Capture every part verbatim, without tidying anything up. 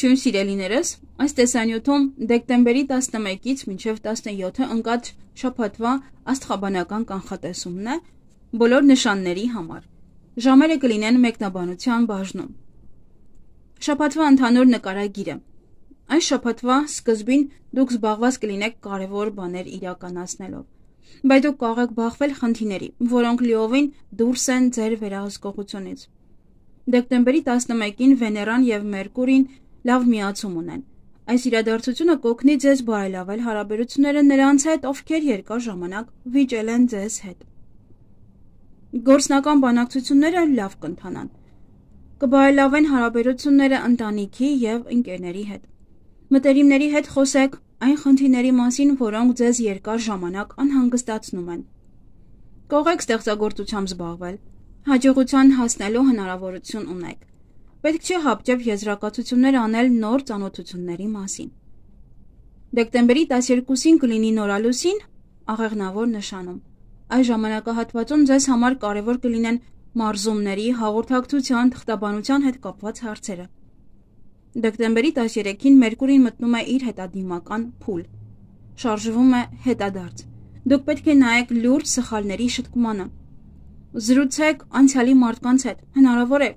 Ողջույն սիրելիներս, այս տեսանյութում դեկտեմբերի տասնմեկից մինչև տասնյոթը ընկած շաբաթվա աստղաբանական կանխատեսումն է բոլոր նշանների համար։ Ժամերը կլինեն մեկնաբանության բաժնում։ Շաբաթվա ընդհանուր նկարագիրը։ Այս շաբաթվա սկզբին դուք զբաղված կլինեք կարևոր բաներ իրականացնելով, բայց դուք կարող եք բախվել խնդիրների, որոնք լիովին դուրս են ձեր վերահսկողությունից։ Դեկտեմբերի տասնմեկին Վեներան և Մերկուրին լավ միացում ունեն։ Այս իրադարձությունը կօգնի ձեզ բարելավել հարաբերությունները նրանց հետ, ովքեր երկար ժամանակ վիճել են ձեզ հետ։ Գործնական բանակցությունները լավ կընթանան։ Կբարելավեն հարաբերությունները ընտանիքի և ընկերների հետ։ Մտերիմների հետ խոսեք այն խնդիրների մասին, որոնք ձեզ երկար ժամանակ անհանգստացնում են։ Կարող եք ստեղծագործությամբ զբաղվել, հաջողության հասնելու հնարավորություն ունեք։ Պետք չէ հապճեպ եզրակացություններ անել նոր ծանոթությունների մասին։ Դեկտեմբերի տասներկուսին կլինի նորալուսին աղեղնավոր նշանում։ Այս ժամանակահատվածում ձեզ համար կարևոր կլինեն մարզումների, հաղորդակցության, թղթաբանության հետ կապված հարցերը։ Դեկտեմբերի տասներեքին Մերկուրին մտնում է իր հետադիմական փուլ։ Շարժվում է հետադարձ։ Դուք պետք է նայեք լուրջ սխալների շտկմանը։ Զրուցեք անցյալի մարդկանց հետ, հնարավոր է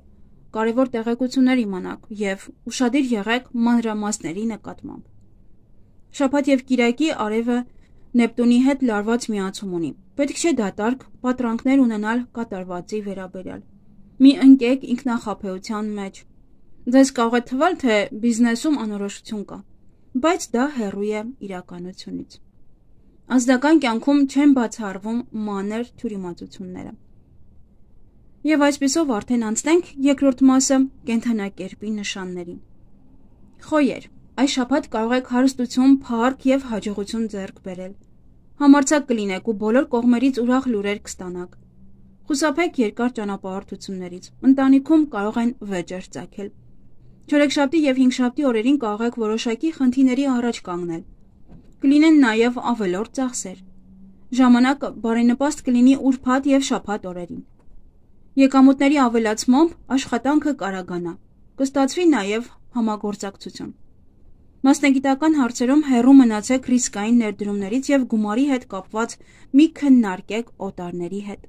կարևոր տեղեկություններ իմանաք և ուշադիր եղեք մանրամասների նկատմամբ։ Շաբաթ և կիրակի արևը Նեպտունի հետ լարված միացում ունի։ Պետք չէ դատարկ պատրանքներ ունենալ կատարվածի վերաբերյալ։ Մի ընկեք ինքնախաբեության մեջ։ Ձեզ կարող է թվալ, թե բիզնեսում անորոշություն կա, բայց դա հեռու է իրականությունից։ Ազնական կյանքում չեն բացառվում մանր թյուրիմացությունները։ Եվ այսպիսով արդեն անցնենք երկրորդ մասը կենդանակերպի նշաններին։ Խոյեր, այս շաբաթ կարող եք հարստություն, փառք և հաջողություն ձեռք բերել։ Համարձակ կլինեք ու բոլոր կողմերից ուրախ լուրեր կստանաք։ Խուսափեք երկար ճանապարհորդություններից։ Ընտանիքում կարող են վեճեր ծագել։ Չորեքշաբթի և հինգշաբթի օրերին կարող եք որոշակի խնդիրների առաջ կանգնել։ Կլինեն նաև ավելորդ ծախսեր։ Ժամանակը բարենպաստ կլինի ուրբաթ և շաբաթ օրերին։ Եկամուտների ավելացմամբ աշխատանքը կարագանա, կստացվի նաև համագործակցություն։ Մասնագիտական հարցերում հեռու մնացեք ռիսկային ներդրումներից և գումարի հետ կապված մի քննարկեք օտարների հետ։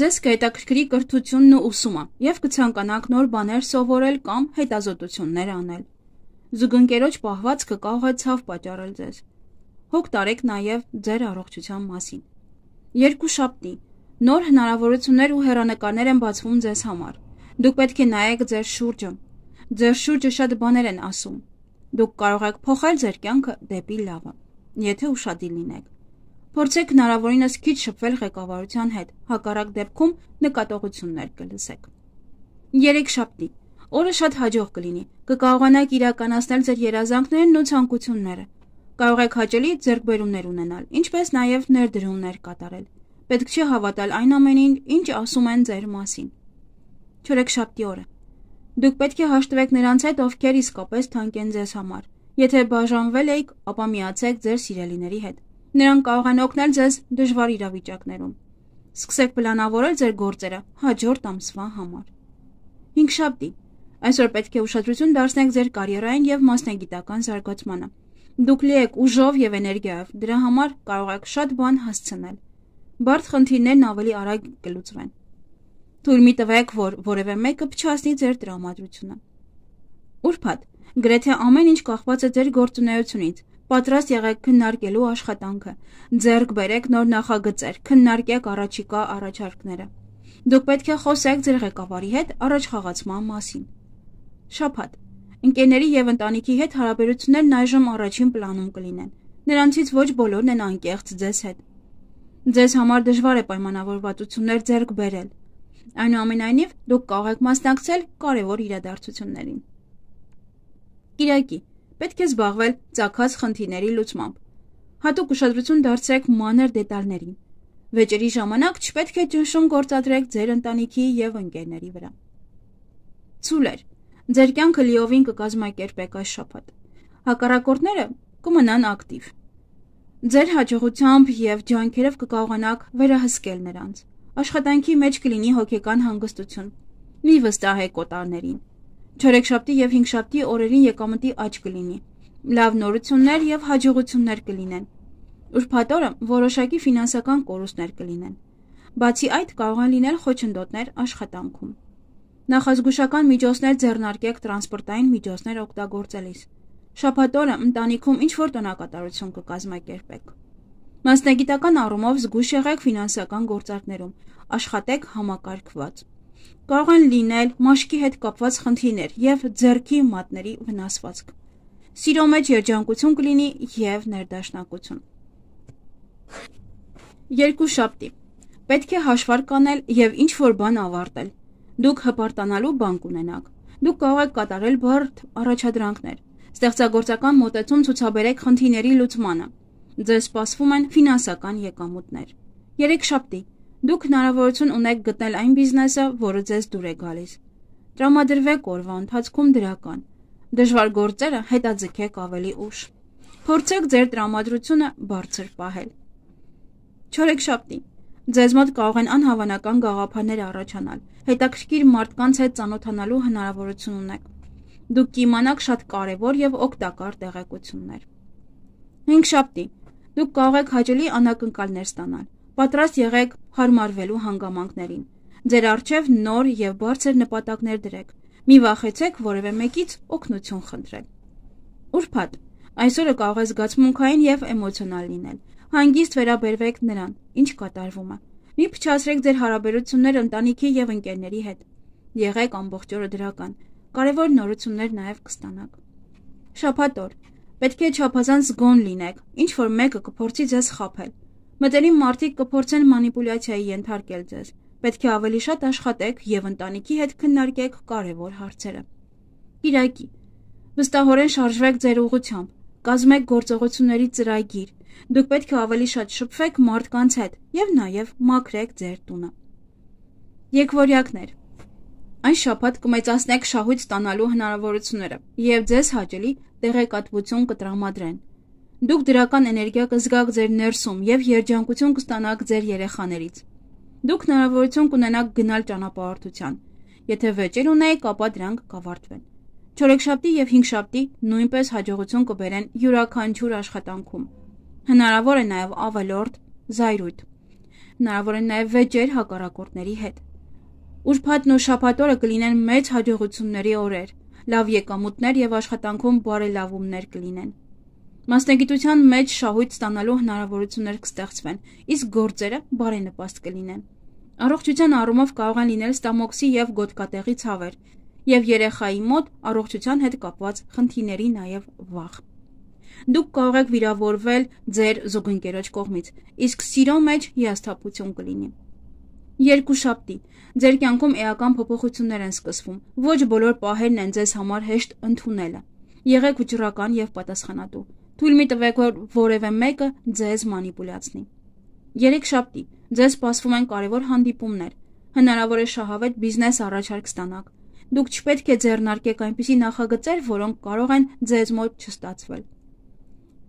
Ձեզ կհետաքրքրի կրթությունն ու ուսումը և կցանկանաք նոր բաներ սովորել կամ հետազոտություններ անել։ Զուգընկերոջ պահվածքը կարող է ցավ պատճառել ձեզ։ Հոգ տարեք նաև ձեր առողջության մասին։ Երկուշաբթի նոր հնարավորություններ ու հեռանկարներ են բացվում ձեզ համար։ Դուք պետք է նայեք ձեր շուրջը։ Ձեր շուրջը շատ բաներ են ասում։ Դուք կարող եք փոխել ձեր կյանքը դեպի լավը, եթե ուշադիր լինեք։ Փորձեք հնարավորինս քիչ շփվել ղեկավարության հետ, հակառակ դեպքում նկատողություններ կլսեք։ Երեքշաբթի օրը շատ հաջող կլինի։ Կկարողանաք իրականացնել ձեր երազանքներն ու ցանկությունները։ Կարող եք հաճելի ձեռքբերումներ ունենալ, ինչպես նաև ներդրումներ կատարել։ Պետք չէ հավատալ այն ամենին, ինչ ասում են ձեր մասին։ Չորեքշաբթի օրը դուք պետք է հաշտվեք նրանց հետ, ովքեր իսկապես թանկ են ձեզ համար։ Եթե բաժանվել եք, ապա միացեք ձեր սիրելիների հետ։ Նրանք կարող են օգնել ձեզ դժվար իրավիճակներում։ Սկսեք պլանավորել ձեր գործերը հաջորդ ամսվա համար։ Հինգշաբթի այսօր պետք է ուշադրություն դարձնեք ձեր կարիերային և մասնագիտական զարգացմանը։ Դուք լի եք ուժով և էներգիայով, դրա համար կարող եք շատ բան հասցնել։ Բարդ խնդիրներն ավելի արագ կլուծվեն։ Թույլ մի տվեք, որ որևէ մեկը փչացնի ձեր տրամադրությունը։ Ուրբաթ գրեթե ամեն ինչ կախված է ձեր գործունեությունից։ Պատրաստ եղեք քննարկելու աշխատանքը։ Ձեռք բերեք նոր նախագծեր, քննարկեք առաջիկա առաջարկները։ Դուք պետք է խոսեք ձեր ղեկավարի հետ առաջխաղացման մասին։ Շաբաթ ընկերների և ընտանիքի հետ հարաբերություններն այժմ առաջին պլանում կլինեն։ Նրանցից ոչ բոլորն են անկեղծ ձեզ հետ։ Ձեզ համար դժվար է պայմանավորվածություններ ձեռք բերել։ Այնուամենայնիվ, դուք կարող եք մասնակցել կարևոր իրադարձություններին։ Կիրակի պետք է զբաղվել ծագած խնդիրների լուծմամբ։ Հատուկ ուշադրություն դարձրեք մանր դետալներին։ Վեճերի ժամանակ չպետք է ճնշում գործադրեք ձեր ընտանիքի և ընկերների վրա։ Ցուլեր, ձեր կյանքը լիովին կկազմակերպեք այս շաբաթ։ Հակառակորդները կմնան ակտիվ։ Ձեր հաջողությամբ և ջանքերով կկարողանաք վերահսկել նրանց։ Աշխատանքի մեջ կլինի հոգեկան հանգստություն։ Մի վստահեք օտարներին։ Չորեքշաբթի եւ հինգշաբթի օրերին եկամտի աճ կլինի։ Լավ նորություններ եւ հաջողություններ կլինեն։ Ուրբաթ օրը որոշակի ֆինանսական կորուստներ կլինեն։ Բացի այդ կարող են լինել խոչընդոտներ աշխատանքում։ Նախազգուշական միջոցներ ձեռնարկեք տրանսպորտային միջոցներ օգտագործելիս։ Շաբաթ օրը ընտանիքում ինչ-որ տոնակատարություն կկազմակերպեք։ Մասնագիտական առումով զգույշ եղեք ֆինանսական գործարքներում, աշխատեք համակարգված։ Կարող են լինել մաշկի հետ կապված խնդիրներ եւ ձեռքի մատների վնասվածք։ Սիրո մեջ երջանկություն կլինի եւ ներդաշնակություն։ Երկուշաբթի պետք է հաշվարկ անել եւ ինչ-որ բան ավարտել։ Դուք հպարտանալու բան կունենաք։ Դուք կարող եք կատարել բարդ առաջադրանքներ։ Ստեղծագործական մոտեցում ցուցաբերեք խնդիրների լուծմանը։ Ձեզ սպասվում են ֆինանսական եկամուտներ։ Երեքշաբթի դուք հնարավորություն ունեք գտնել այն բիզնեսը, որը ձեզ դուր է գալիս։ Տրամադրվեք օրվա ընթացքում դրական։ Դժվար գործերը հետաձգեք ավելի ուշ։ Փորձեք ձեր տրամադրությունը բարձր պահել։ Չորեքշաբթի ձեզ մոտ կարող են անհավանական գաղափարներ առաջանալ։ Հետաքրքիր մարդկանց հետ ծանոթանալու հնարավորություն ունեք։ Դուք կիմանաք շատ կարևոր եւ օգտակար տեղեկություններ։ Հինգշաբթի դուք կարող եք հաճելի անակնկալներ ստանալ։ Պատրաստ եղեք հարմարվելու հանգամանքներին։ Ձեր առջև նոր եւ բարձր նպատակներ դրեք։ Մի վախեցեք որևէ մեկից օգնություն խնդրել։ Ուրբաթ այսօրը կարող է զգացմունքային եւ էմոցիոնալ լինել։ Հանգիստ վերաբերվեք նրան, ինչ կատարվում է։ Մի փչացրեք ձեր հարաբերությունները ընտանիքի եւ ընկերների հետ։ Եղեք ամբողջ օրը դրական։ Կարևոր նորություններ նաեւ կստանաք։ Շաբաթ օր պետք է չափազանց զգոն լինեք, ինչ որ մեկը կփորձի ձեզ խաբել։ Մտերիմ մարդիկ կփորձեն մանիպուլյացիայի ենթարկել ձեզ։ Պետք է ավելի շատ աշխատեք եւ ընտանիքի հետ քննարկեք կարևոր հարցերը։ Կիրակի վստահորեն շարժվեք ձեր ուղղությամբ, կազմեք գործողությունների ծրագիր։ Դուք պետք է ավելի շատ շփվեք մարդկանց հետ եւ նաեւ մաքրեք ձեր տունը։ Եկվորյակներ Այս շաբաթ կմեծացնեք շահույթ ստանալու հնարավորությունները եւ ձեզ հաճելի տեղեկատվություն կտրամադրեն։ Դուք դրական էներգիա կզգաք ձեր ներսում եւ երջանկություն կստանաք ձեր երեխաներից։ Դուք հնարավորություն կունենաք գնալ ճանապարհորդության։ Եթե վեճեր ունեք, ապա դրանք կավարտվեն։ Չորեքշաբթի եւ հինգշաբթի նույնպես հաջողություն կբերեն յուրաքանչյուր աշխատանքում։ Հնարավոր է նաեւ ավելորդ զայրույթ։ Հնարավոր է նաեւ վեճեր հակառակորդների հետ։ Ուրբաթն ու շաբաթ օրը կլինեն մեծ հաջողությունների օրեր, լավ եկամուտներ եւ աշխատանքում բարելավումներ կլինեն։ Մասնագիտության մեջ շահույթ ստանալու հնարավորություններ կստեղծվեն, իսկ գործերը բարենպաստ կլինեն։ Առողջության առումով կարող են լինել ստամոքսի եւ գոտկատեղի ցավեր եւ երեխայի մոտ առողջության հետ կապված խնդիրների նաեւ վախ։ Դուք կարող եք վիրավորվել ձեր զուգընկերոջ կողմից, իսկ սիրո մեջ հիասթափություն կլինի։ Երկուշաբթի ձեր կյանքում էական փոփոխություններ են սկսվում։ Ոչ բոլոր պահերն են ձեզ համար հեշտ ընդունելը։ Եղեք վճռական եւ պատասխանատու։ Թույլ մի տվեք, որ որևէ մեկը ձեզ մանիպուլյացնի։ Երեքշաբթի ձեզ սպասվում են կարևոր հանդիպումներ։ Հնարավոր է շահավետ բիզնես առաջարկ ստանաք։ Դուք չպետք է ձեռնարկեք այնպիսի նախագծեր, որոնք կարող են ձեզ մոտ չստացվել։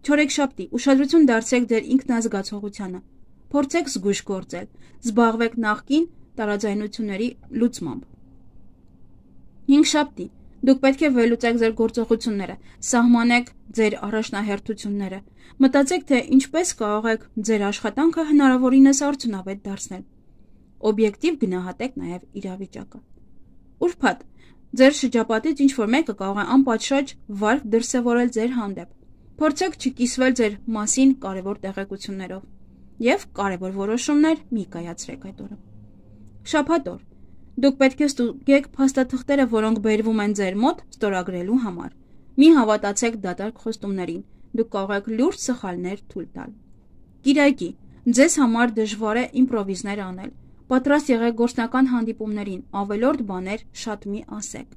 Չորեքշաբթի ուշադրություն դարձրեք ձեր ինքնազգացողությանը։ Փորձեք զգույշ գործել։ Զբաղվեք նախկին տարաձայնությունների լուծմամբ։ Հինգշաբթի դուք պետք է վերլուծեք ձեր գործողությունները, սահմանեք ձեր առաջնահերթությունները։ Մտածեք, թե ինչպես կարող եք ձեր աշխատանքը հնարավորինս արդյունավետ դարձնել։ Օբյեկտիվ գնահատեք նաև իրավիճակը։ Ուրբաթ ձեր շրջապատից ինչ-որ մեկը կարող է անպատշաճ վարք դրսևորել ձեր հանդեպ։ Փորձեք չկիսվել ձեր մասին կարևոր տեղեկություններով եւ կարևոր որոշումներ մի կայացրեք այդ օրը։ Շաբաթ օր դուք պետք է ստուգեք փաստաթղթերը, որոնք բերվում են ձեր մոտ ստորագրելու համար։ Մի հավատացեք դատարկ խոստումներին։ Դուք կարող եք լուրջ սխալներ թույլ տալ։ Կիրակի ձեզ համար դժվար է իմպրովիզներ անել։ Պատրաստ եղեք գործնական հանդիպումներին, ավելորդ բաներ շատ մի ասեք։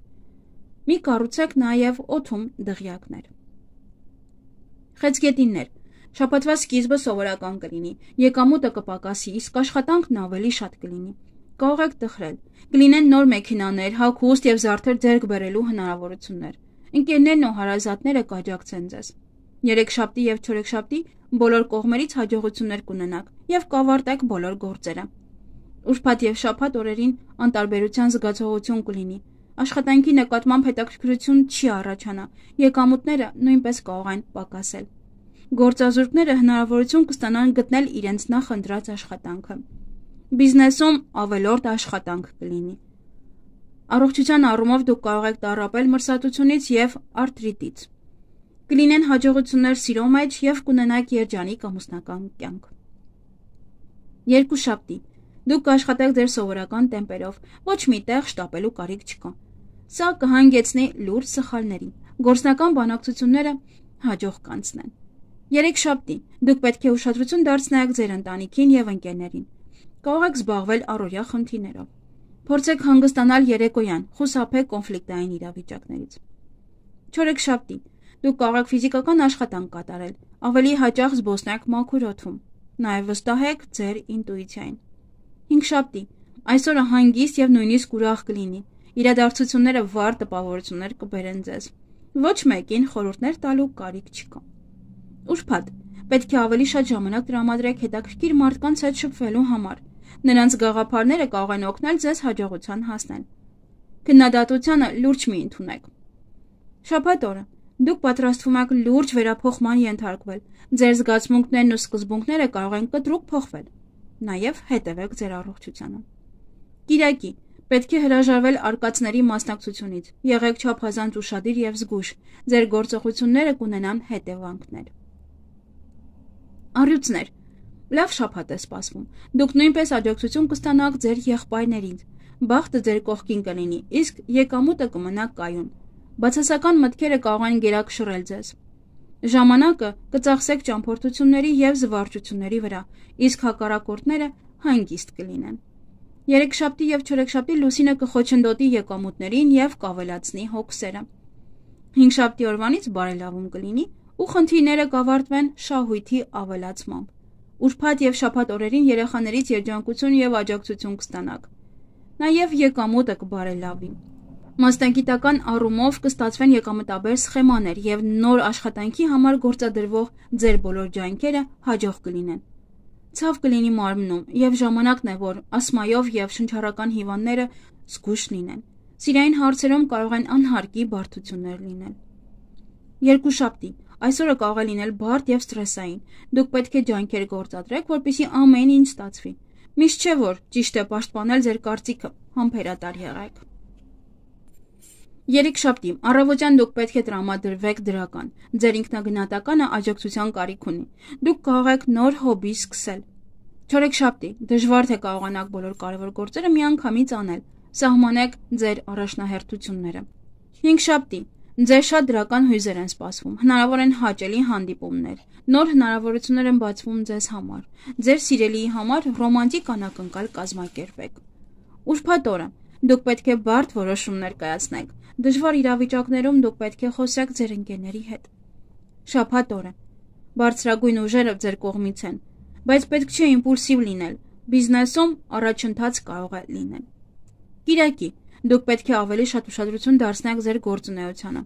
Մի կառուցեք նաև օդում դղյակներ։ Խեցգետիններ շաբաթվա սկիզբը սովորական կլինի, եկամուտը կպակասի, իսկ աշխատանքն ավելի շատ կլինի։ Կարող եք տխրել։ Կլինեն նոր մեքենաներ, հագուստ եւ զարդեր ձեռք բերելու հնարավորություններ։ Ընկերներն ու հարազատները կաջակցեն ձեզ։ Երեքշաբթի եւ չորեքշաբթի բոլոր կողմերից հաջողություններ կունենաք եւ կավարտեք բոլոր գործերը։ Ուրբաթ եւ շաբաթ օրերին անտարբերության զգացողություն կլինի։ Աշխատանքի նկատմամբ հետաքրքրություն չի առաջանա, եկամուտները նույնպես կարող են պակասել։ Գործազուրկները հնարավորություն կստանան գտնել իրենց նախընտրած աշխատանքը։ Բիզնեսում ավելորդ աշխատանք կլինի։ Առողջության առումով դուք կարող եք տառապել մրսատությունից և արտրիտից։ Կլինեն հաջողություններ սիրո մեջ և կունենաք երջանիկ ամուսնական կյանք։ Երկուշաբթի։ Դուք կաշխատեք ձեր սովորական տեմպերով, ոչ մի տեղ շտապելու կարիք չկա։ Սա կհանգեցնի լուրջ սխալների։ Գործնական բանակցությունները հաջող կանցնեն։ Երեքշաբթի։ Դուք պետք է ուշադրություն դարձնեք ձեր ընտանիքին և ընկերներին։ Կարող եք զբաղվել առօրյա խնդիրներով։ Փորձեք հանգստանալ երեկոյան, խուսափեք կոնֆլիկտային իրավիճակներից։ Չորեքշաբթի։ Դուք կարող եք ֆիզիկական աշխատանք կատարել, ավելի հաճախ զբոսնեք մաքուր օդում։ Նաև վստահեք ձեր ինտուիցիային։ Հինգշաբթի։ Այսօրը հանգիստ և նույնիսկ ուրախ կլինի։ Իրադարձությունները վառ տպավորություններ կբերեն ձեզ։ Ոչ մեկին խորհուրդներ տալու կարիք չկա։ Ուրբաթ։ Պետք է ավելի շատ ժամանակ տրամադրեք հետաքրքիր մարդկանց հետ շփվելու համար։ Նրանց գաղափարները կարող են օգնել ձեզ հաջողության հասնել։ Քննադատությանը լուրջ մի ընդունեք։ Շաբաթ օրը։ Դուք պատրաստվում եք լուրջ վերափոխման ենթարկվել։ Ձեր զգացմունքներն ու սկզբունքները կարող են կտրուկ փոխվել։ Նաև հետևեք ձեր առողջությանը։ Կիրակի։ Պետք է հրաժարվել արկածների մասնակցությունից։ Եղեք չափազանց ուշադիր և զգույշ։ Ձեր գործողությունները կունենան հետևանքներ։ Առյուծներ։ Լավ շաբաթ է սպասվում։ Դուք նույնպես աջակցություն կստանաք ձեր եղբայրներից։ Բախտը ձեր կողքին կլինի, իսկ եկամուտը կմնա կայուն։ Բացասական մտքերը կարող են գերակշռել ձեզ։ Ժամանակը կծախսեք ճամփորդությունների և զվարճությունների վրա, իսկ հակառակորդները հանգիստ կլինեն։ Երեքշաբթի և չորեքշաբթի լուսինը կխոչընդոտի եկամուտներին և կավելացնի հոգսերը։ Հինգշաբթի օրվանից բարելավում կլինի ու խնդիրները կավարտվեն շահույթի ավելացմամբ։ Ուրբաթ և շաբաթ օրերին երեխաներից երջանկություն և աջակցություն կստանաք։ Նաև եկամուտը կբարելավի։ Մասնագիտական առումով կստացվեն եկամտաբեր սխեմաներ և նոր աշխատանքի համար գործադրվող ձեր բոլոր ջանքերը հաջող կլինեն։ Ցավ կլինի մարմնում, և ժամանակն է, որ ասմայով և շնչառական հիվանդները զգույշ լինեն։ Սիրային հարցերում կարող են անհարկի բարդություններ լինել։ Երկուշաբթի։ Այսօրը կարող է լինել բարդ և սթրեսային։ Դուք պետք է ջանքեր գործադրեք, որպեսզի ամեն ինչ ստացվի։ Միշտ չէ, որ ճիշտ է պաշտպանել ձեր կարծիքը, համբերատար եղեք։ Երեքշաբթի։ Առավոտյան դուք պետք է տրամադրվեք դրական։ Ձեր ինքնագնահատականը աջակցության կարիք ունի։ Դուք կարող եք նոր հոբբի սկսել։ Չորեքշաբթի։ Դժվար թե կարողանաք բոլոր կարևոր գործերը միանգամից անել։ Սահմանեք ձեր առաջնահերթությունները։ Հինգշաբթի։ Ձեր շատ դրական հույզեր են սպասվում։ Հնարավոր են հաճելի հանդիպումներ։ Նոր հնարավորություններ են բացվում ձեզ համար։ Ձեր սիրելիի համար ռոմանտիկ անակնկալ կազմակերպեք։ Ուրբաթ օրը։ Դուք պետք է բարդ որոշումներ կայացնեք։ Դժվար իրավիճակներում դուք պետք է խոսեք ձեր ընկերների հետ։ Շաբաթ օրը։ Բարձրագույն ուժերը ձեր կողմից են, բայց պետք չէ իմպուլսիվ լինել։ Բիզնեսում առաջընթաց կարող է լինել։ Կիրակի։ Դուք պետք է ավելի շատ ուշադրություն դարձնեք ձեր գործունեությանը։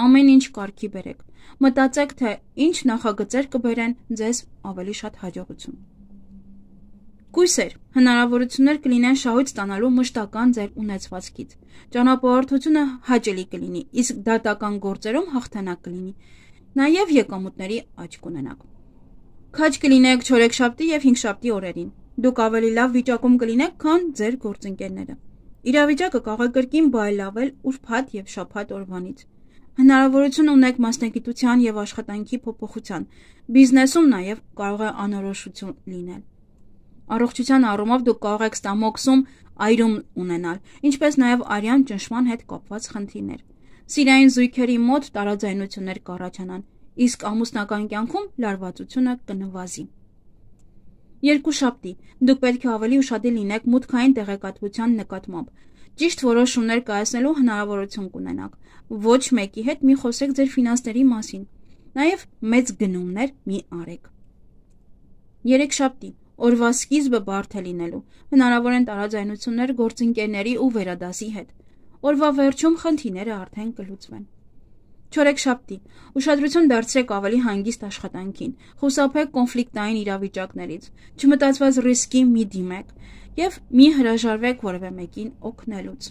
Ամեն ինչ կարգի բերեք։ Մտածեք, թե ինչ նախագծեր կբերեն ձեզ ավելի շատ հաջողություն։ Կույսեր, հնարավորություններ կլինեն շահույթ ստանալու մշտական ձեր ունեցվածքից։ Ճանապարհորդությունը հաճելի կլինի, իսկ դատական գործերում հաղթանակ կլինի։ Նաև եկամուտների աճ կունենաք։ Քաջ կլինեք չորեքշաբթի և հինգշաբթի օրերին։ Դուք ավելի լավ վիճակում կլինեք, քան ձեր գործընկերները։ Իրավիճակը կարող է կրկին բարելավել ուրբաթ և շաբաթ օրվանից։ Հնարավորություն ունեք մասնագիտության և աշխատանքի փոփոխության։ Բիզնեսում նաև կարող է անորոշություն լինել։ Առողջության առումով դուք կարող եք ստամոքսում այրում ունենալ, ինչպես նաև արյան ճնշման հետ կապված խնդիրներ։ Սիրային զույգերի մոտ տարաձայնություններ կառաջանան, իսկ ամուսնական կյանքում լարվածությունը կնվազի։ Երկուշաբթի։ Դուք պետք է ավելի ուշադիր լինեք մուտքային տեղեկատվության նկատմամբ։ Ճիշտ որոշումներ կայացնելու հնարավորություն կունենաք։ Ոչ մեկի հետ մի խոսեք ձեր ֆինանսների մասին։ Նաև մեծ գնումներ մի արեք։ Երեքշաբթի։ Օրվա սկիզբը բարդ է լինելու։ Հնարավոր են տարաձայնություններ գործընկերների ու վերադասի հետ։ Օրվա վերջում խնդիրները արդեն կլուծվեն։ Չորեքշաբթի։ Ուշադրություն դարձրեք ավելի հանգիստ աշխատանքին։ Խուսափեք կոնֆլիկտային իրավիճակներից։ Չմտածված ռիսկի մի դիմեք և մի հրաժարվեք որևէ մեկին օգնելուց։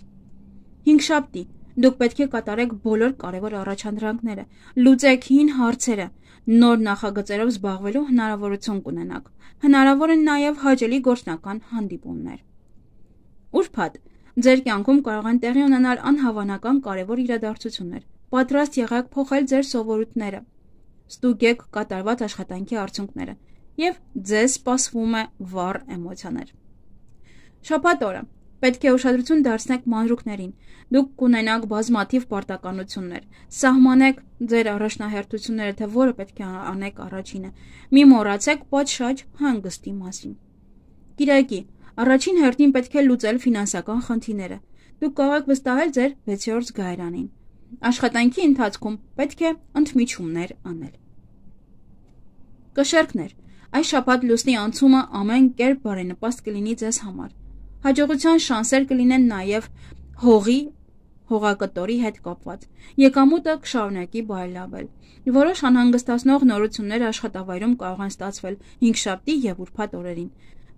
Հինգշաբթի դուք պետք է կատարեք բոլոր կարևոր առաջադրանքները, լուծեք հին հարցերը, նոր նախագծերով զբաղվելու հնարավորություն կունենաք։ Հնարավոր են նաև հաճելի գործնական հանդիպումներ։ Ուրբաթ ձեր կյանքում կարող են տեղի ունենալ անհավանական կարևոր իրադարձություններ։ Պատրաստ եղեք փոխել ձեր սովորույթները, ստուգեք կատարված աշխատանքի արդյունքները եւ ձեզ սպասվում է վառ էմոցիաներ։ Շաբաթ օրը պետք է ուշադրություն դարձնեք մանրուքներին։ Դուք կունենաք բազմաթիվ պարտականություններ։ Սահմանեք ձեր առաջնահերթությունները, թե որը պետք է անեք առաջինը։ Մի մոռացեք պատշաճ հանգստի մասին։ Կիրակի առաջին հերթին պետք է լուծել ֆինանսական խնդիրները։ Դուք կարող եք վստահել ձեր վեցերորդ զգայարանին։ Աշխատանքի ընթացքում պետք է ընդմիջումներ անել։ Կշեռքներ, այս շաբաթ լուսնի անցումը ամեն կերպ բարենպաստ կլինի ձեզ համար։ Հաջողության շանսեր կլինեն նաև հողի, հողակտորի հետ կապված։ Եկամուտը կշարունակի բարելավել։ Որոշ անհանգստացնող նորություններ աշխատավայրում կարող են ստացվել հինգշաբթի եւ ուրբաթ օրերին։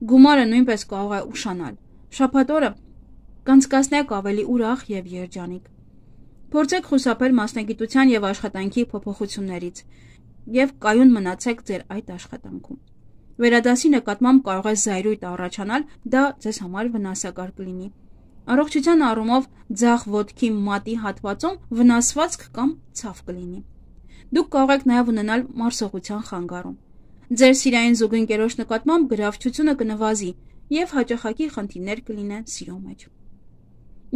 Գումարը նույնպես կարող է ուշանալ։ Շաբաթ օրը կանցկացնեք ավելի ուրախ եւ երջանիկ։ Փորձեք խուսափել մասնագիտության եւ աշխատանքի փոփոխություններից եւ կայուն մնացեք ձեր այդ աշխատանքում։ Վերադասի նկատմամբ կարող է զայրույթ առաջանալ, դա ձեզ համար վնասակար կլինի։ Առողջության առումով ձախ ոտքի մատի հատվածում վնասվածք կամ ցավ կլինի։ Դուք կարող եք նաև ունենալ մարսողության խանգարում։ Ձեր սիրային զուգընկերոջ նկատմամբ գրավչությունը կնվազի եւ հաճախակի խնդիրներ կլինեն սիրո մեջ։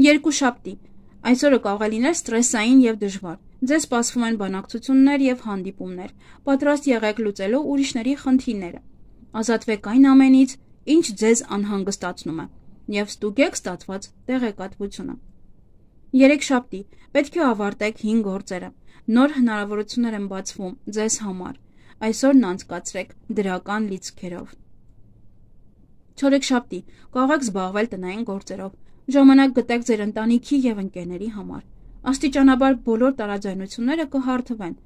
Երկուշաբթի այսօրը կարող է լինել ստրեսային եւ դժվար։ Ձեզ սպասվում են բանակցություններ եւ հանդիպումներ։ Պատրաստ եղեք լուծելու ուրիշների խնդիրները։ Ազատվեք այն ամենից, ինչ ձեզ անհանգստացնում է, եւ ստուգեք ստացված տեղեկատվությունը։ Երեքշաբթի պետք է ավարտեք հին գործերը։ Նոր հնարավորություններ են բացվում ձեզ համար։ Այսօրն անցկացրեք դրական լիցքերով։ Չորեքշաբթի կարող եք զբաղվել տնային գործերով։ Ժամանակ գտեք ձեր ընտանիքի եւ ընկերների համար։ Աստիճանաբար բոլոր տարաձայնությունները կհարթվեն։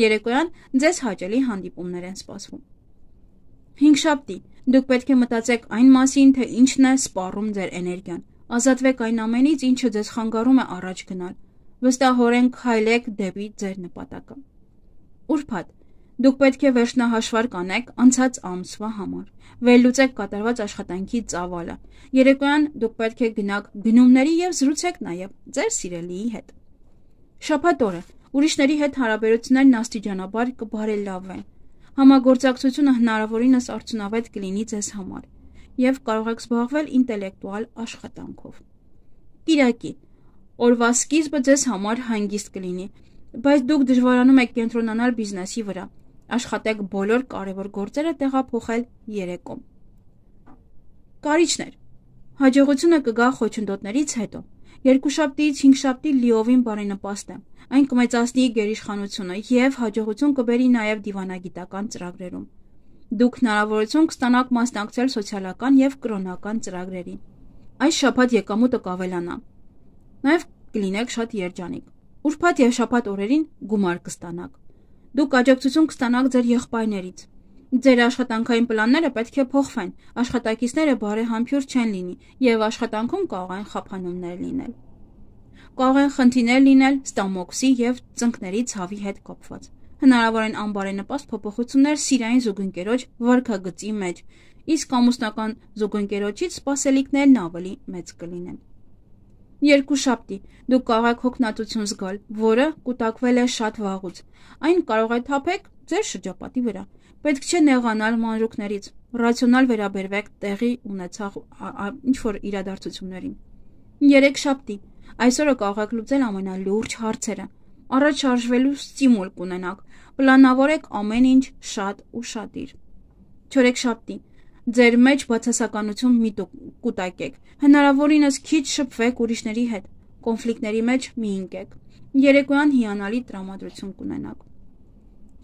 Երեկոյան ձեզ հաճելի հանդիպումներ են սպասվում։ Հինգշաբթի դուք պետք է մտածեք այն մասին, թե ինչն է սպառում ձեր էներգիան։ Ազատվեք այն ամենից, ինչը ձեզ խանգարում է առաջ գնալ։ Վստահորեն քայլեք դեպի ձեր նպատակը։ Ուրբաթ դուք պետք է վերջնահաշվարկ անեք անցած ամսվա համար։ Վերլուծեք կատարված աշխատանքի ծավալը։ Երեկոյան դուք պետք է գնաք գնումների եւ զրուցեք նաեւ ձեր սիրելիի հետ։ Շաբաթ օրը ուրիշների հետ հարաբերություններն աստիճանաբար կբարելավեն։ Համագործակցությունը հնարավորինս արդյունավետ կլինի ձեզ համար եւ կարող եք զբաղվել ինտելեկտուալ աշխատանքով։ Կիրակի օրվա սկիզբը ձեզ համար հանգիստ կլինի, բայց դուք դժվարանում եք կենտրոնանալ բիզնեսի վրա։ Աշխատեք բոլոր կարևոր գործերը տեղափոխել երեկոմ։ Կարիճներ, հաջողությունը կգա խոչընդոտներից հետո։ Երկուշաբթիից հինգշաբթի լիովին բարենպաստ է։ Այն կմեծացնի գերիշխանությունը եւ հաջողություն կբերի նաեւ դիվանագիտական ծրագրերում։ Դուք հնարավորություն կստանաք մասնակցել սոցիալական եւ կրոնական ծրագրերի։ Այս շաբաթ եկամուտը կավելանա։ Նաեւ կլինեք շատ երջանիկ։ Ուրբաթ եւ շաբաթ օրերին գումար կստանաք։ Դուք աջակցություն կստանաք ձեր եղբայրներից։ Ձեր աշխատանքային պլանները պետք է փոխվեն, աշխատակիցները բարեհամբույր չեն լինի եւ աշխատանքում կարող են խափանումներ լինել։ Կարող են խնդիրներ լինել ստամոքսի եւ ծնկների ցավի հետ կապված։ Հնարավոր են անբարենպաստ փոփոխություններ սիրային զուգընկերոջ վարքագծի մեջ, իսկ ամուսնական զուգընկերոջից սպասելիքներն ավելի մեծ կլինեն։ Երկուշաբթի դուք կարող եք հոգնածություն զգալ, որը կուտակվել է շատ վաղուց։ Այն կարող է թափեք ձեր շրջապատի վրա։ Պետք չէ նեղանալ մանրուքներից, ռացիոնալ վերաբերվեք տեղի ունեցող ինչ-որ իրադարձություններին։ Երեքշաբթի այսօրը կարող եք լուծել ամենալուրջ հարցերը։ Առաջ շարժվելու ստիմուլ կունենաք, պլանավորեք ամեն ինչ շատ ուշադիր։ Չորեքշաբթի ձեր մեջ բացասականություն մի կուտակեք, հնարավորինս քիչ շփվեք ուրիշների հետ, կոնֆլիկտների մեջ մի ընկեք։ Երեկոյան հիանալի տրամադրություն կունենաք։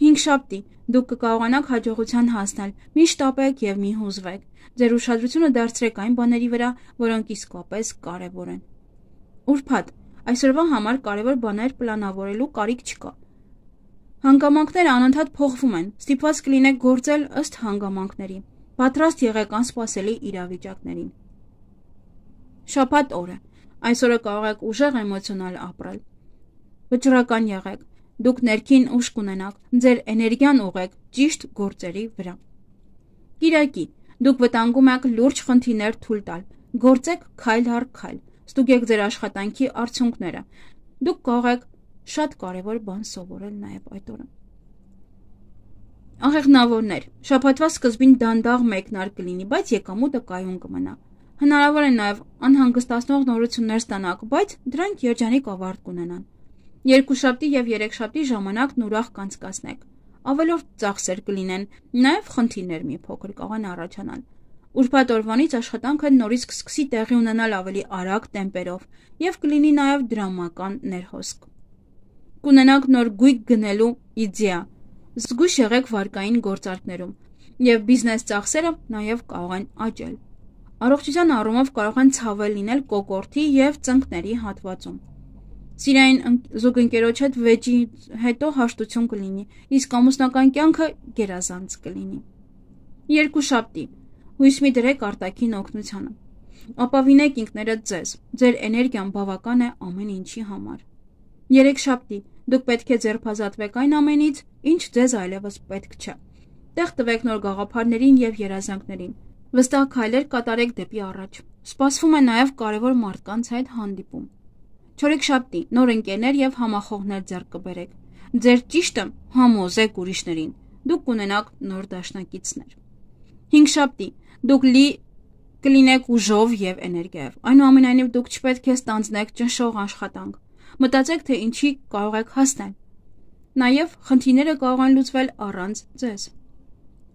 Հինգշաբթի դուք կկարողանաք հաջողության հասնել, մի շտապեք եւ մի հուզվեք։ Ձեր ուշադրությունը դարձրեք այն բաների վրա, որոնք իսկապես կարեւոր են։ Ուրբաթ այսօրվա համար կարևոր բաներ պլանավորելու կարիք չկա։ Հանգամանքները անընդհատ փոխվում են, ստիպված կլինեք գործել ըստ հանգամանքների։ Պատրաստ եղեք անսպասելի իրավիճակներին։ Շաբաթ օրը Այսօրը կարող եք ուժեղ էմոցիոնալ ապրել։ Վճռական եղեք, դուք ներքին ուժ կունենաք, ձեր էներգիան ուղեք ճիշտ գործերի վրա։ Կիրակի, դուք վտանգում եք լուրջ խնդիրներ թույլ տալ, գործեք քայլ առ քայլ, ստուգեք ձեր աշխատանքի արդյունքները։ Դուք կարող եք շատ կարևոր բան սովորել նաև այդ օրը։ Աղեղնավորներ, շաբաթվա սկզբին դանդաղ մեկնարկ կլինի, բայց եկամուտը կայուն կմնա։ Հնարավոր է նաև անհանգստացնող նորություններ ստանաք, բայց դրանք երջանիկ ավարտ կունենան։ Երկուշաբթի եւ երեքշաբթի ժամանակն ուրախ կանցկացնեք։ Ավելորդ ծախսեր կլինեն, նաև խնդիրներ մի փոքր կարող են առաջանալ։ Ուրբաթ օրվանից աշխատանքը նորից կսկսի տեղի ունենալ ավելի արագ տեմպերով եւ կլինի նաև դրամական ներհոսք։ Կունենաք նոր գույք գնելու իդեա, զգույշ եղեք վարկային գործարքներում եւ բիզնես ծախսերը նաև կարող են աճել։ Առողջության առումով կարող են ցավել լինել կոկորդի եւ ծնկների հատվածում։ Սիրային զուգընկերոջ հետ վեճի հետո հաշտություն կլինի, իսկ ամուսնական կյանքը գերազանց կլինի։ Երկուշաբթի, հույս մի դրեք արտաքին օգնությանը։ Ապավինեք ինքներդ ձեզ, ձեր էներգիան բավական է ամեն ինչի համար։ Երեքշաբթի, դուք պետք է ձերբազատվեք այն ամենից, ինչ ձեզ այլևս պետք չէ։ Տեղ տվեք նոր գաղափարներին եւ երազանքներին։ Վստահ քայլեր կատարեք դեպի առաջ։ Սպասվում է նաև կարևոր մարդկանց հետ հանդիպում։ Չորեքշաբթի, նոր ընկերներ եւ համախոհներ ձեռք կբերեք։ Ձեր ճիշտը համոզեք ուրիշներին։ Դուք կունենաք նոր դաշնակիցներ։ Հինգշաբթի, դուք լի կլինեք ուժով եւ էներգիայով։ Այնուամենայնիվ դուք չպետք է ստանձնեք ճնշող աշխատանք։ Մտածեք, թե ինչի կարող եք հասնել։ Նաև խնդիրները կարող են լուծվել առանց ձեզ։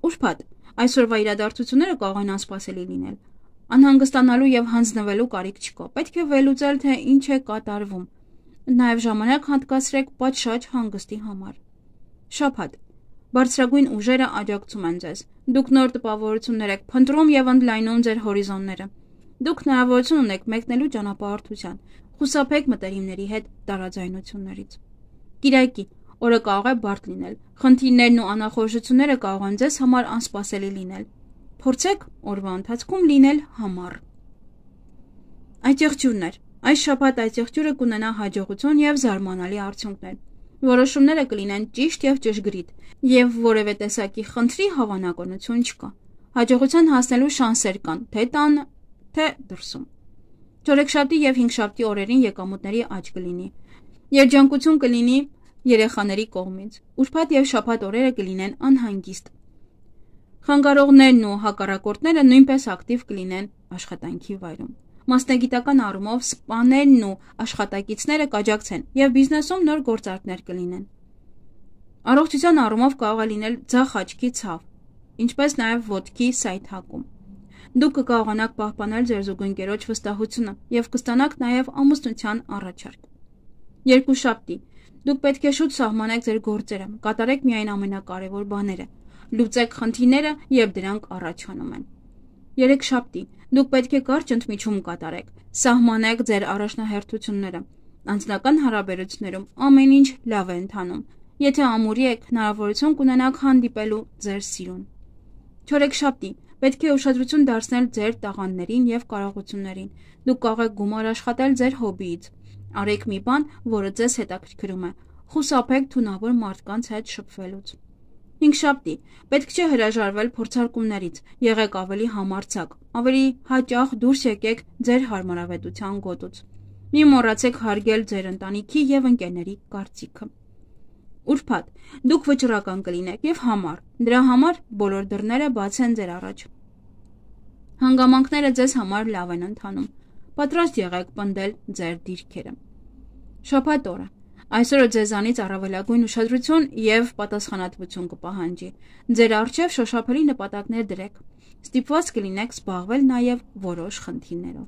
Ուրբաթ, այսօրվա իրադարձությունները կարող են անսպասելի լինել։ Անհանգստանալու եւ հանձնվելու կարիք չկա։ Պետք է վերլուծել, թե ինչ է կատարվում։ Նաև ժամանակ հատկացրեք պատշաճ հանգստի համար։ Շաբաթ, բարձրագույն ուժերը աջակցում են ձեզ։ Դուք նոր տպավորություններ եք փնտրում եւ ընդլայնում ձեր հորիզոնները։ Դուք հնարավորություն ունեք մեկնելու ճանապարհորդության։ Խուսափեք մտերիմների հետ տարաձայնություններից։ Կիրակի, օրը կարող է բարդ լինել։ Խնդիրներն ու անախորժությունները կարող են ձեզ համար անսպասելի լինել։ Փորձեք օրվա ընթացքում լինել համառ։ Այցեղջյուրներ, այս շաբաթ այցեղջյուրը կունենա հաջողություն եւ զարմանալի արդյունքներ։ Որոշումները կլինեն ճիշտ եւ ճշգրիտ, եւ որևէ տեսակի խնդրի հավանականություն չկա։ Հաջողության հասնելու շանսեր կան, թե տան, թե դրսում։ Չորեքշաբթի եւ հինգշաբթի օրերին եկամուտների աճ կլինի։ Երջանկություն կլինի երեխաների կողմից։ Ուրբաթ եւ շաբաթ օրերը կլինեն անհանգիստ։ Խանգարողներն ու հակառակորդները նույնպես ակտիվ կլինեն աշխատանքի վայրում։ Մասնագիտական առումով սպաներն ու աշխատակիցները կաջակցեն եւ բիզնեսում նոր գործարքներ կլինեն։ Առողջության առումով կարող է լինել ձախ աչքի ցավ, ինչպես նաև ոտքի սայթակում։ Դուք կկարողանաք պահպանել ձեր զուգընկերոջ վստահությունը եւ կստանաք նաև ամուսնության առաջարկ։ Երկուշաբթի, դուք պետք է շուտ սահմանեք ձեր գործերը, կատարեք միայն ամենակարևոր բաները, լուծեք խնդիրները, երբ դրանք առաջանում են։ Երեքշաբթի, դուք պետք է կարճ ընդմիջում կատարեք, սահմանեք ձեր առաջնահերթությունները։ Անձնական հարաբերություններում ամեն ինչ լավ է ընթանում։ Եթե ամուրի եք, հնարավորություն կունենաք հանդիպելու ձեր սիրուն։ Չորեքշաբթի, պետք է ուշադրություն դարձնել ձեր տաղանդներին եւ կարողություններին։ Դուք կարող եք գումար աշխատել ձեր հոբիից։ Արեք մի բան, որը ձեզ հետաքրքրում է։ Խուսափեք թունավոր մարդկանց հետ շփվելուց։ Հինգշաբթի, պետք չէ հրաժարվել փորձարկումներից։ Եղեք ավելի համարձակ, ավելի հաճախ դուրս եկեք ձեր հարմարավետության գոտուց։ Մի մոռացեք հարգել ձեր ընտանիքի եւ ընկերների կարծիքը։ Ուրբաթ, դուք վճռական կլինեք եւ համառ։ Դրա համար բոլոր դռները բաց են ձեր առաջ։ Հանգամանքները ձեզ համար լավ են ընթանում։ Պատրաստ եղեք պնդել ձեր դիրքերը։ Շաբաթ օրը, այսօրը ձեզանից առավելագույն ուշադրություն եւ պատասխանատվություն կպահանջի։ Ձեր առջեւ շոշափելի նպատակներ դրեք։ Ստիպված կլինեք զբաղվել նաեւ որոշ խնդիրներով։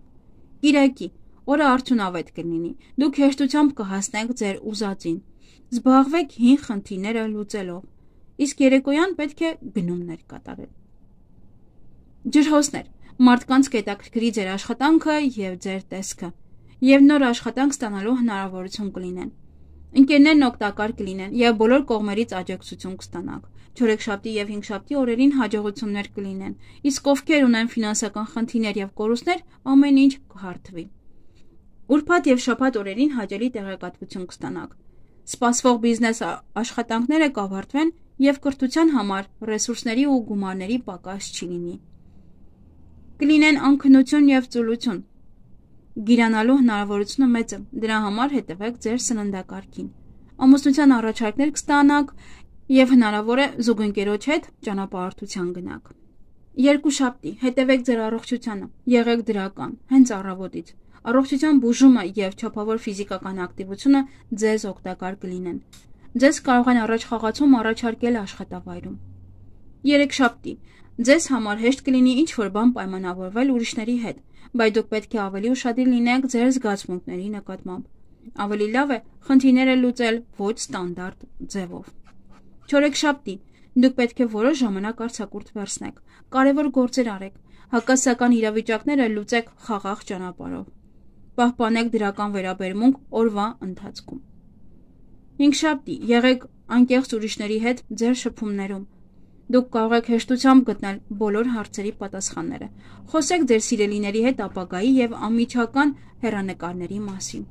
Կիրակի, օրը արդյունավետ կլինի։ Դուք հեշտությամբ կհասնեք ձեր ուզածին։ Զբաղվեք հին խնդիրները լուծելով, իսկ երեկոյան պետք է գնումներ կատարել։ Ջրհոսներ, մարդկանց կհետաքրքրի ձեր աշխատանքը եւ ձեր տեսքը, եւ նոր աշխատանք ստանալու հնարավորություն կլինեն։ Ընկերներն օգտակար կլինեն եւ բոլոր կողմերից աջակցություն կստանաք։ Չորեքշաբթի եւ հինգշաբթի օրերին հաջողություններ կլինեն, իսկ ովքեր ունեն ֆինանսական խնդիրներ եւ կորուստներ, ամեն ինչ կհարթվի։ Ուրբաթ եւ շաբաթ օրերին հաճելի տեղեկատվություն կստանաք։ Սպասվող բիզնես աշխատանքները կավարտվեն եւ կրթության համար ռեսուրսների ու գումարների պակաս չի լինի։ Կլինեն անքնություն եւ ծուլություն։ Գիրանալու հնարավորությունը մեծ է, դրա համար հետևեք ձեր սննդակարգին։ Ամուսնության առաջարկներ կստանաք եւ հնարավոր է զուգընկերոջ հետ ճանապարհորդության գնաք։ Երկուշաբթի հետևեք ձեր առողջությանը, եղեք դրական, հենց առավոտից։ Առողջության բուժումը եւ չափավոր ֆիզիկական ակտիվությունը ձեզ օգտակար կլինեն։ Ձեզ կարող են առաջխաղացում առաջարկել աշխատավայրում։ Երեքշաբթի ձեզ համար հեշտ կլինի ինչ-որ բան պայմանավորվել ուրիշների հետ, բայց դուք պետք է ավելի ուշադիր լինեք ձեր զգացմունքների նկատմամբ։ Ավելի լավ է խնդիրները լուծել ոչ ստանդարտ ձևով։ Չորեքշաբթի դուք պետք է որոշ ժամանակ արձակուրդ վերցնեք, կարևոր գործեր արեք, հակասական իրավիճակները լուծեք խաղաղ ճանապարհով։ Պահպանեք դրական վերաբերմունք օրվա ընթացքում։ Հինգշաբթի եղեք անկեղծ ուրիշների հետ ձեր շփումներում։ Դուք կարող եք հեշտությամբ գտնել բոլոր հարցերի պատասխանները։ Խոսեք ձեր սիրելիների հետ ապագայի եւ անմիջական հեռանկարների մասին։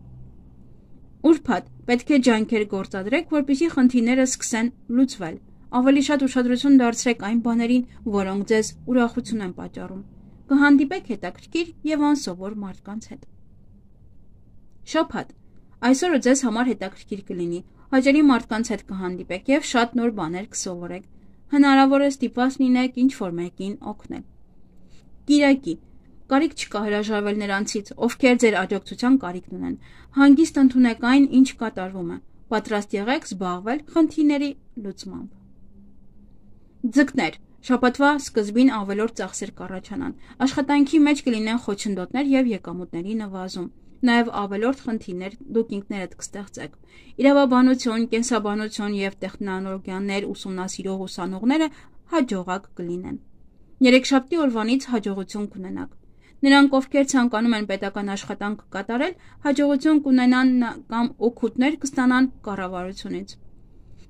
Ուրբաթ պետք է ջանքեր գործադրեք, որպեսզի խնդիրները սկսեն լուծվել։ Ավելի շատ ուշադրություն դարձրեք այն բաներին, որոնք ձեզ ուրախություն են պատճառում։ Կհանդիպեք հետաքրքիր եւ անսովոր մարդկանց հետ։ Շաբաթ այսօրը ձեզ համար հետաքրքիր կլինի։ Հաճելի մարդկանց հետ կհանդիպեք եւ շատ նոր բաներ կսովորեք։ Հնարավոր է ստիպված լինեք ինչ-որ մեկին օգնել։ Կիրակի կարիք չկա հրաժարվել նրանցից, ովքեր ձեր աջակցության կարիքն ունեն։ Հանգիստ ընդունեք այն, ինչ կատարվում է։ Պատրաստ եղեք զբաղվել խնդիրների լուծմամբ։ Ձկներ շաբաթվա սկզբին ավելորդ ծախսեր կառաջանան։ Աշխատանքի մեջ կլինեն խոչընդոտներ եւ եկամուտների նվազում։ Նաև ավելորդ խնդիրներ դուք ինքներդ կստեղծեք։ Իրավաբանություն, կենսաբանություն եւ տեխնոլոգիաներ ուսումնասիրող ուսանողները հաջողակ կլինեն։ Երեքշաբթի օրվանից հաջողություն կունենաք։ Նրանք, ովքեր ցանկանում են պետական աշխատանք կատարել, հաջողություն կունենան կամ օգուտներ կստանան կառավարությունից։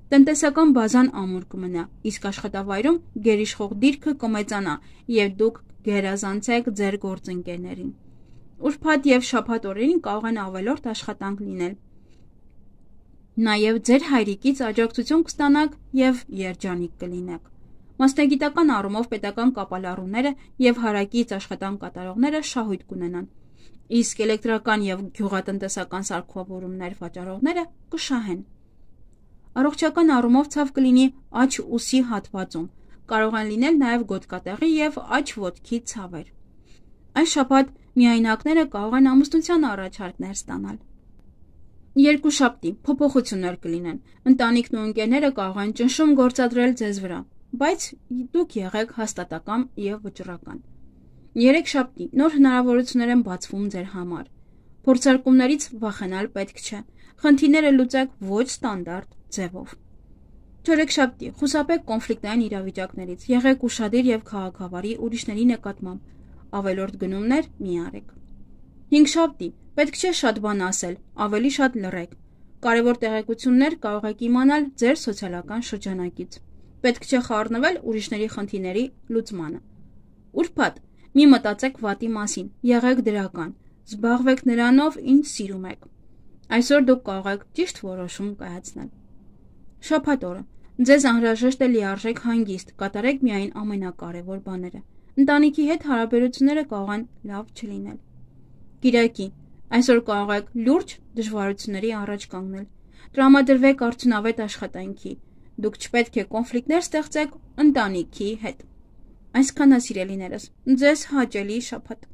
Տնտեսական բազան ամուր կմնա, իսկ աշխատավայրում գերիշխող դիրքը կմեծանա եւ դուք գերազանցեք ձեր գործընկերներին։ Ուրբաթ եւ շաբաթ օրերին կարող են ավելորդ աշխատանք լինել։ Նաեւ ձեր հայրիկից աջակցություն կստանաք եւ երջանիկ կլինեք։ Մասնագիտական առումով պետական կապալառուները եւ հարակից աշխատանք կատարողները շահույթ կունենան, իսկ էլեկտրական եւ գյուղատնտեսական սարքավորումներ վաճառողները կշահեն։ Առողջական առումով ցավ կլինի աջ ուսի հատվածում, կարող են լինել նաեւ գոտկատեղի եւ աջ ոտքի ցավեր։ Այս շաբաթ միայնակները կարող են ամուսնության առաջարկներ ստանալ։ Երկուշաբթի փոփոխություններ կլինեն։ Ընտանիքն ու ընկերները կարող են ճնշում գործադրել ձեզ վրա, բայց դուք եղեք հաստատակամ եւ վճռական։ Երեքշաբթի նոր հնարավորություններ են բացվում ձեր համար։ Փորձարկումներից վախենալ պետք չէ։ Խնդիրները լուծեք ոչ ստանդարտ ձևով։ Չորեքշաբթի խուսափեք կոնֆլիկտային իրավիճակներից, եղեք ուշադիր եւ քաղաքավարի ուրիշների նկատմամբ։ Ավելորդ գնումներ մի արեք։ Հինգշաբթի պետք չէ շատ բան ասել, ավելի շատ լռեք։ Կարևոր տեղեկություններ կարող եք իմանալ ձեր սոցիալական շրջանակից։ Պետք չէ խառնվել ուրիշների խնդիրների լուծմանը։ Ուրբաթ մի մտածեք վատի մասին, եղեք դրական, զբաղվեք նրանով, ինչ սիրում եք։ Այսօր դուք կարող եք ճիշտ որոշում կայացնել։ Շաբաթ օրը ձեզ անհրաժեշտ է լիարժեք հանգիստ, կատարեք միայն ամենակարևոր բաները։ Ընտանիքի հետ հարաբերությունները կարող են լավ չլինել։ Կիրակի այսօր կարող եք լուրջ դժվարությունների առաջ կանգնել։ Տրամադրվեք արդյունավետ աշխատանքի։ Դուք չպետք է կոնֆլիկտներ ստեղծեք ընտանիքի հետ։ Այսքան է, սիրելիներս, ձեզ հաճելի շաբաթ։